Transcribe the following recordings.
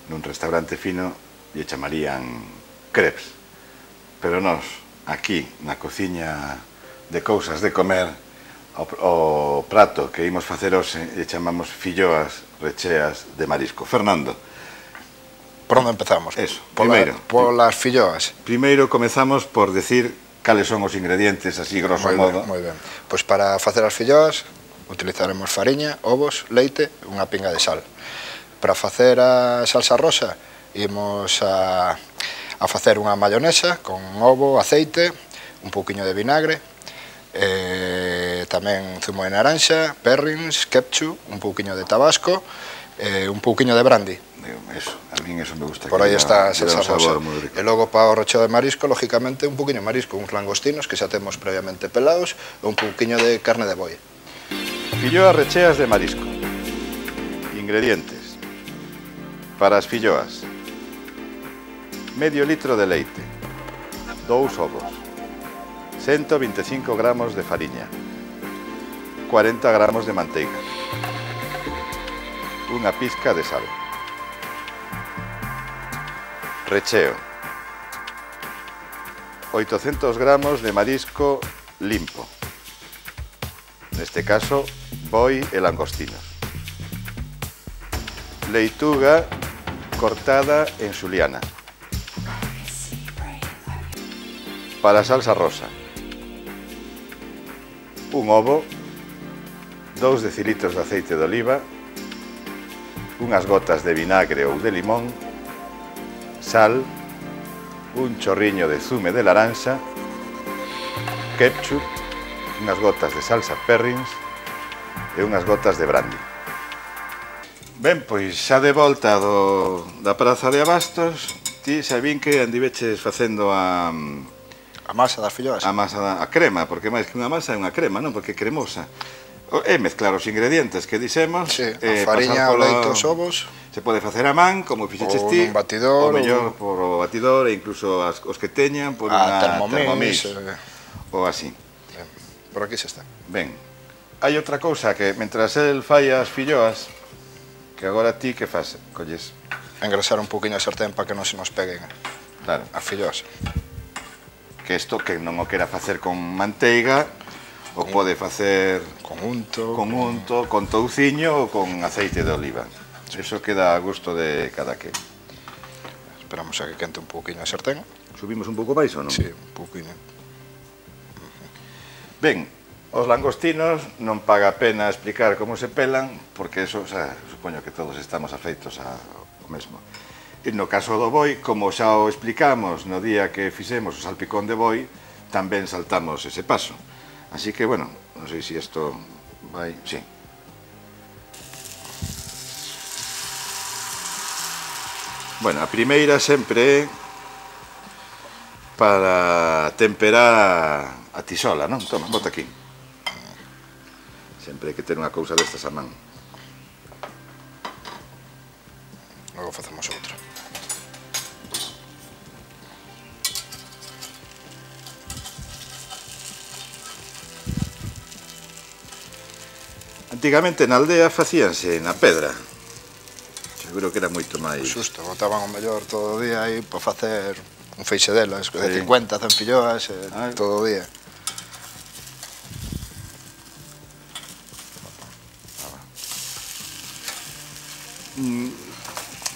nun restaurante fino lle chamarían crepes. Pero nós, aquí, na cociña de cousas de comer, o prato que imos facer hoxe lle chamamos filloas recheas de marisco. Fernando. Por onde empezamos? Eso, primeiro. Polas filloas. Primeiro comezamos por decir cales son os ingredientes, así grosso modo. Moi ben. Pois para facer as filloas utilizaremos fariña, ovos, leite e unha pinga de sal. Para facer a salsa rosa imos a facer unha mayonesa con ovo, aceite, un pouquiño de vinagre, tamén zumo de naranxa, perrins, ketchup, un pouquiño de tabasco e un pouquiño de brandy. Eso, a min eso me gusta. Por aí está a salsa rosa. E logo para o recheo de marisco, lógicamente, un pouquiño de marisco, uns langostinos que xa temos previamente pelados e un pouquiño de carne de boi. Filloas recheas de marisco. Ingredientes. Para as filloas: medio litro de leite, 2 ovos, 125 gramos de fariña, 40 gramos de manteiga, unha pizca de sal. Recheo: 800 gramos de marisco limpo, neste caso boi e langostinos. Leituga cortada en xuliana. Para a salsa rosa: un ovo, 2 decilitros de aceite de oliva, unhas gotas de vinagre ou de limón, sal, un chorriño de zume de laranxa, ketchup, unhas gotas de salsa perrins e unhas gotas de brandy. Ben, pois xa de volta da Praza de Abastos, ti xa vin que andiveches facendo a masa das filloas. A masa, a crema, porque máis que unha masa é unha crema, non? Porque é cremosa. É mezclar os ingredientes que dixemos. Sí, a fariña, o leite, os ovos. Se pode facer a man, como fixeches ti. Ou un batidor. Ou mellor por o batidor, e incluso os que teñan por unha Thermomix. Ou así. Por aquí xa está. Ben, hai outra cousa que, mentras el fai as filloas, que agora ti que faz? Colles? Engrasar un pouquiño a sartén para que non se nos peguen as filloas. Que isto que non o quera facer con manteiga, o pode facer con unto, con touciño ou con aceite de oliva. Eso queda a gusto de cada que. Esperamos a que quente un pouquiño a sartén. Subimos un pouco máis ou non? Sí, un pouquiño. Ben, os langostinos non paga a pena explicar como se pelan, porque eso, supoño que todos estamos afeitos ao mesmo. E no caso do boi, como xa o explicamos no día que fixemos o salpicón de boi, tamén saltamos ese paso. Así que, bueno, non sei se isto vai... Sí. Bueno, a primeira sempre é para temperar a tisola, non? Toma, bota aquí. Sempre hai que ter unha cousa destas a man. Logo facemos outra. Antigamente na aldea facíanse na pedra. Seguro que era moito máis... Xusto, botaban o mellor todo o día aí para facer un feixe delas, de 50, 100 filloas, todo o día.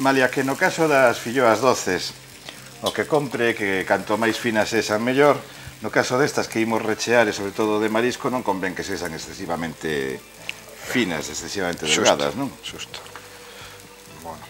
Malia que no caso das filloas doces, o que compre que canto máis finas sexan mellor, no caso destas que imos rechear e sobre todo de marisco non convén que sexan excesivamente finas, excesivamente delgadas, non? Xusto. Bueno.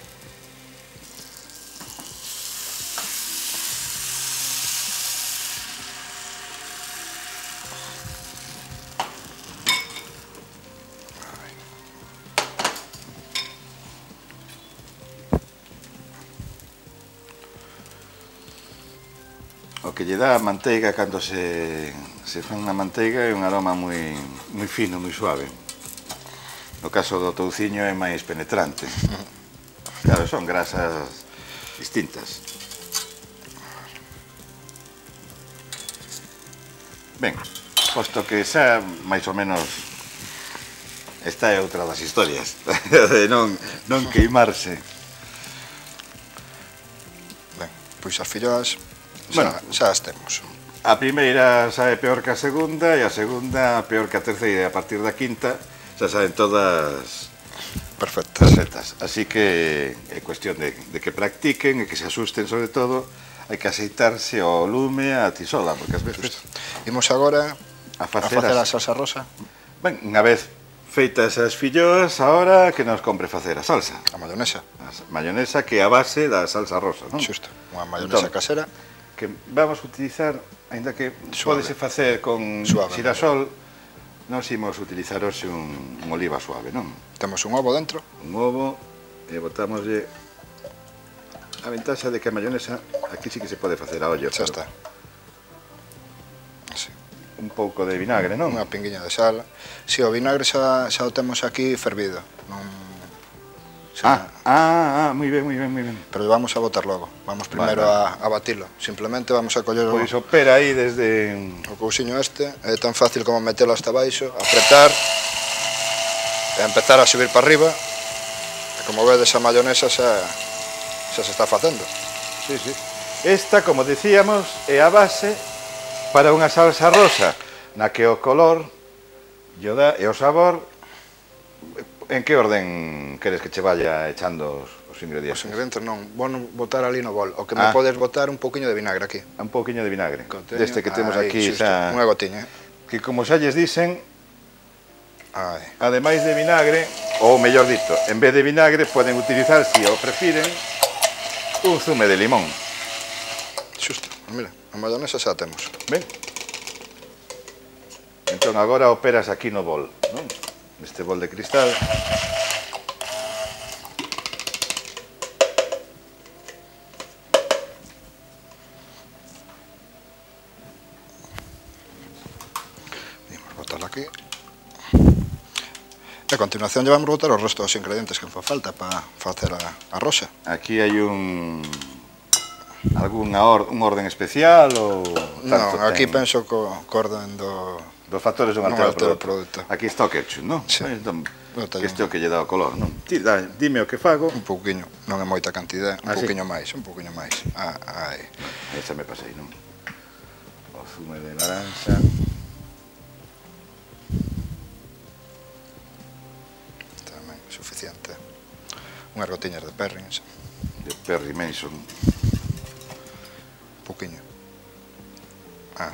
O que lle dá a manteiga cando se fan a manteiga é un aroma moi fino, moi suave. No caso do touciño é máis penetrante. Claro, son grasas distintas. Ben, posto que xa máis ou menos esta é outra das historias de non queimarse. Pois as filloas Bueno. xa as temos. A primeira sae peor que a segunda e a segunda peor que a terceira, e a partir da quinta xa saen todas Perfectas. perfectas. Así que é cuestión de que practiquen e que se asusten, sobre todo, hai que aceitarse ao lume a tisola, porque ás veces Imos agora a a facer facer a as... salsa rosa, Ben, unha vez feitas as filloas, ahora que nos compre facer a salsa. a mayonesa, A mayonesa que é a base da salsa rosa, non? xusto, unha mayonesa Entón, casera, que vamos a utilizar, aínda que Suave. pódese facer con Suave. xirasol, nós imos utilizar hoxe un oliva suave, non? temos un ovo dentro, Un ovo e botámoslle a ventaxa de que a mayonesa aquí sí que se pode facer a ollo, xa pero está. Así. un pouco de vinagre, non? Unha pinguiña de sal. Si, o vinagre xa o temos aquí fervido, non... Moi ben, moi ben, moi ben. Pero vamos a botar logo. Vamos primeiro Vale. a batilo. Simplemente vamos a coller Pois opera aí desde... o cousiño este. É tan fácil como metelo hasta baixo, apretar e empezar a subir para arriba. E como vedes, a mayonesa xa se está facendo. Sí, sí. Esta, como decíamos, é a base para unha salsa rosa, na que o color lle dá e o sabor. En que orden queres que che vaya echando os ingredientes? Os ingredientes non, vou botar ali no bol. O que me podes botar un pouquiño de vinagre aquí. Un pouquiño de vinagre. Conteño. Deste que temos Aí, aquí xusto, xa... unha gotiña. Que como xa lles dicen, Ai. ademais de vinagre, ou mellor dito, en vez de vinagre poden utilizar, se o prefiren, un zume de limón. Xusto, mira, a mayonesa xa a temos. Ben? Entón agora operas aquí no bol, non? Neste bol de cristal. Vamos botarla aquí. E a continuación lle vamos botar os restos dos ingredientes que fa falta para facer a rosa. Aquí hai un orden especial ou tanto Non, aquí ten? penso co orden Dos factores dun non altero altera o produto. Aquí está o ketchup, non? Sí. Entón, Bota que este é o que lle dá o color, non? Ti, dime o que fago. un pouquiño, non é moita cantidade, un Sí? pouquiño máis, un pouquiño máis. Ai. Aí xa me pasei, non? O zume de naranja. Tamén suficiente. Unhas gotiñas de Perrins, De Perry Mason. un pouquiño.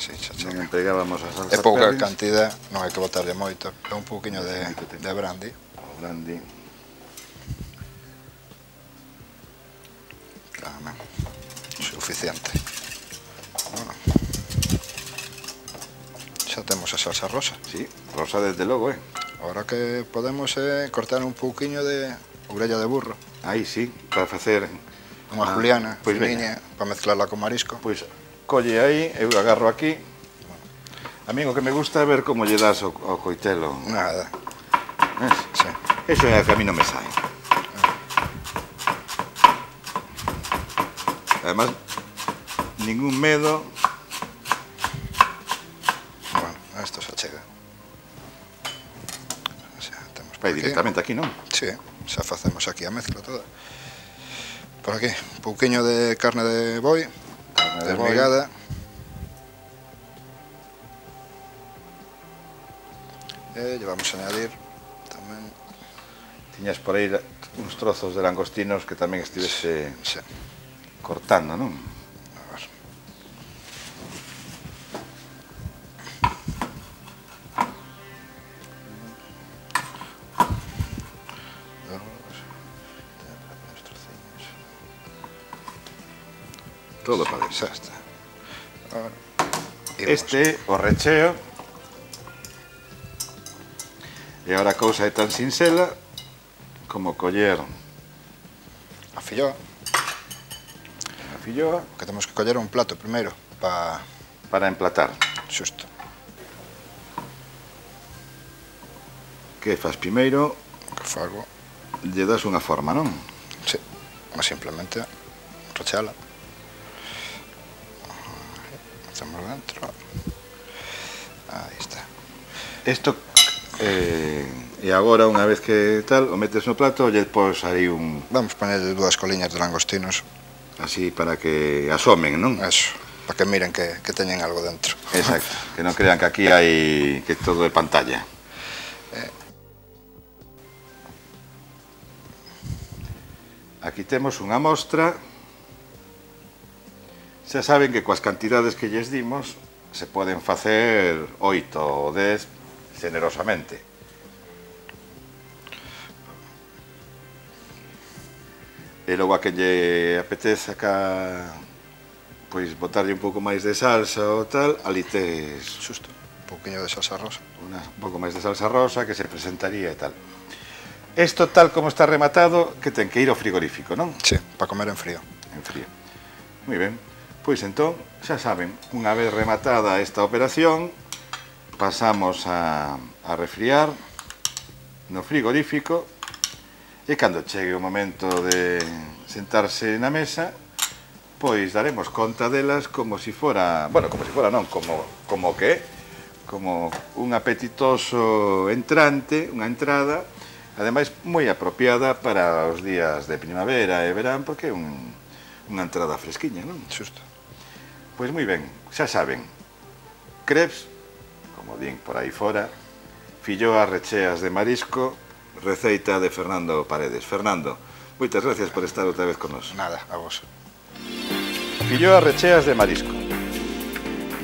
Sí, xa Non chega. empregábamos a salsa É pouca Perrins. cantidade, non hai que botarlle moito. É un pouquiño de brandy. O brandy. Tamén. Suficiente. Bueno. Xa temos a salsa rosa. Sí, rosa desde logo, Ahora que podemos cortar un pouquiño de orella de burro. Aí sí, para facer... Unha juliana, pois finiña, para mezclarla con marisco. Pois colle aí, eu agarro aquí. A mí o que me gusta é ver como lle das ao coitelo. Nada. Ves? Sí. Eso é que a mí non me sae. Además, ningún medo. Bueno, esto se achega. Xa temos por Vai aquí. directamente aquí, non? Sí, xa facemos aquí a mezcla toda. Por aquí, un pouquiño de carne de boi, desmigada. E lle vamos a añadir tamén, Tiñas por aí uns trozos de langostinos que tamén estivese sí, cortando, non? a ver. Todo para ver. Xa está. Ahora, Este é o recheo. E agora a cousa é tan sinxela como coller a filloa, a filloa que temos que coller un plato primeiro para emplatar. xusto. Que faz primeiro, Que fago, lle das unha forma, non? sí, mas simplemente rochala. Metemos dentro. Aí está. Isto e agora, unha vez que tal, o metes no plato, lle pos aí un... Vamos poñerlle 2 coliñas de langostinos así para que asomen, non? Eso, para que miren que teñen algo dentro. Exacto, que non crean que aquí hai que todo é pantalla. Aquí temos unha mostra. Xa saben que coas cantidades que lles dimos se poden facer 8 ou 10 generosamente. E logo a que lle apeteza pois botarlle un pouco máis de salsa ou tal, ali tes Xusto, un pouquiño de salsa rosa. un pouco máis de salsa rosa que se presentaría e tal. Isto tal como está rematado que ten que ir ao frigorífico, non? Sí, para comer en frío. En frío. Moi ben. Pois entón, xa saben, unha vez rematada esta operación, pasamos a refriar no frigorífico e cando chegue o momento de sentarse na mesa, pois daremos conta delas como si fora, bueno, como si fora non, como que, como un apetitoso entrante, unha entrada, ademais moi apropiada para os días de primavera e verán, porque é unha entrada fresquiña, non? Xusto. Pois moi ben, xa saben, crepes, como din por aí fora, filloas recheas de marisco, receita de Fernando Paredes. Fernando, moitas gracias por estar outra vez con nos. Nada, a vos. Filloas recheas de marisco.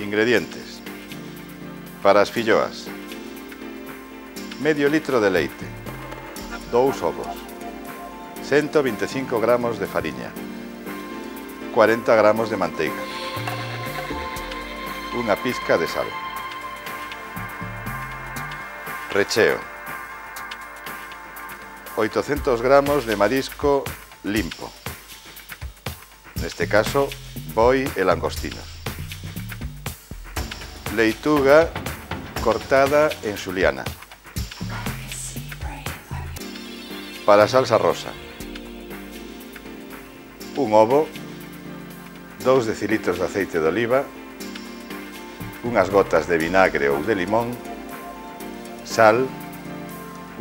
Ingredientes. Para as filloas: medio litro de leite, 2 ovos, 125 gramos de fariña, 40 gramos de manteiga, unha pizca de sal. Recheo: 800 gramos de marisco limpo, neste caso boi e langostinos, leituga cortada en xuliana. Para a salsa rosa: un ovo, 2 decilitros de aceite de oliva, unhas gotas de vinagre ou de limón, sal,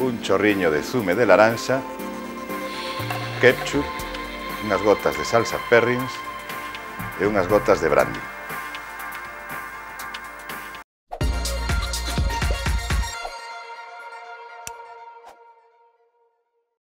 un chorriño de zume de laranxa, ketchup, unhas gotas de salsa Perrins e unhas gotas de brandy.